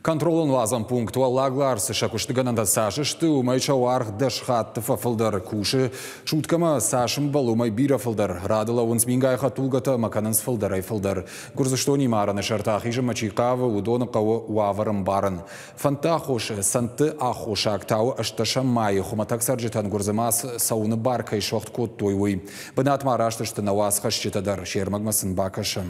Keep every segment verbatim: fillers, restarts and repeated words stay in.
Контролон уадзӕн пункт Уӕллаг Ларсы сӕ куыстыгӕнӕнтӕ цас сты, уымӕй сӕ уаргъ дӕс хатты фӕфылдӕр. Кусы суткӕмӕ цас ӕмбӕлы, уымӕй бирӕ фылдӕр. Рады лӕууынц мингай хӕдтулгӕтӕ ӕмӕ кӕнынц фылдӕрӕй фылдӕр. Гуырдзыстонимӕ арӕны сӕрты ахизынмӕ чи хъавы, уыдоны хъӕуы уавӕр ӕмбарын. Фӕндты аххос, цӕндты аххосаг та у ӕстдӕсӕм майы хуымӕтӕг цӕрджытӕн Гуырдзымӕ цӕуыны бар кӕй суӕгъд кодтой, уый. Бынатмӕ араст сты нӕ уацхӕсджытӕ дӕр, се рмӕгмӕ сын бакӕсӕм.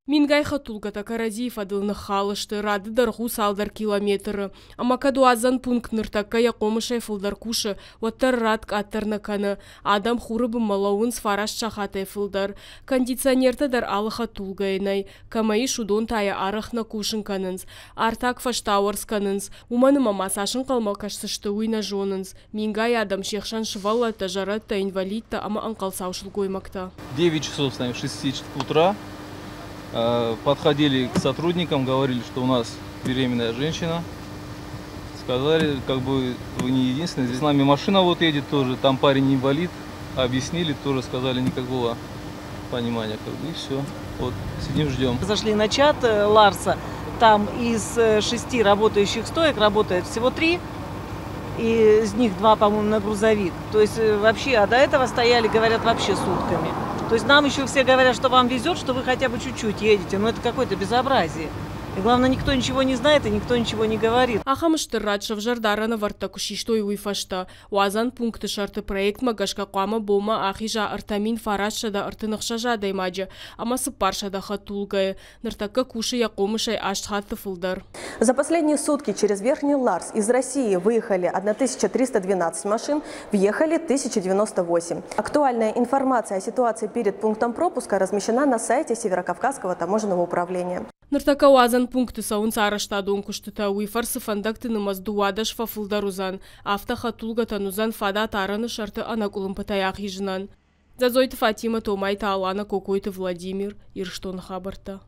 Мингай хӕдтулгӕтӕ кӕрӕдзийы фӕдыл ныххал сты, рады дӕргъ у цалдӕр километры. Ӕмӕ кӕд уадзӕн пункт ныртӕккӕ йӕ хъомысӕй фылдӕр кусы, уӕддӕр рад къаддӕр нӕ кӕны. Адӕм хуры бынмӕ лӕууынц фараст сахатӕй фылдӕр. Кондиционертӕ дӕр алы хӕдтулгӕйы нӕй. Кӕмӕ ис, уыдон та йӕ арӕх нӕ кусын кӕнынц. Артаг фӕстауӕрц кӕнынц. Уымӕн ӕмӕ ма цас ӕнхъӕлмӕ кӕсдзысты, уый нӕ зонынц. Мингай адӕм, се хсӕн сывӕллӕттӕ, зӕрӕдтӕ, инвалидтӕ ӕмӕ ӕнхъӕлцау сылгоймӕгтӕ. девять часов, с шести утра подходили к сотрудникам, говорили, что у нас беременная женщина. Сказали, как бы вы не единственные. Здесь с нами машина вот едет тоже, там парень инвалид. Объяснили, тоже сказали, никакого понимания, как бы, и все. Вот, сидим, ждем. Зашли на чат Ларса, там из шести работающих стоек работает всего три. И из них два, по-моему, на грузовик. То есть вообще, а до этого стояли, говорят, вообще сутками. То есть нам еще все говорят, что вам везет, что вы хотя бы чуть-чуть едете. Но это какое-то безобразие. И главное, никто ничего не знает и никто ничего не говорит. Ахӕм стыр рад сӕвзӕрд арӕнӕвӕрдтӕ куы систой, уый фӕстӕ. Уадзӕн пункты сӕрты проектмӕ гӕсгӕ хъуамӕ бонмӕ ахиза ӕртӕ мин фарастсӕдӕ ӕртын ӕхсӕз адӕймаджы ӕмӕ цыппарсӕдӕ хӕдтулгӕйы. Ныртӕккӕ кусы йӕ хъомысӕй аст хатты фылдӕр. За последние сутки через Верхний Ларс из России выехали тысяча триста двенадцать машин, въехали тысяча девяносто восемь. Актуальная информация о ситуации перед пунктом пропуска размещена на сайте Северокавказского таможенного управления. Ныртӕккӕ уадзӕн пункты цӕуынц арӕзтадон куыстытӕ, уый фӕрцы фӕндӕгты нымӕц дыууадӕс фӕфылдӕр уыдзӕн. Афтӕ хӕдтулгӕтӕн уыдзӕн фадат арӕны сӕрты ӕнӕкъуылымпытӕй ахизынӕн. Дзӕдзойты Фатимӕ, Томайты Алана, Кокойты Владимир, Ирыстоны хабӕрттӕ.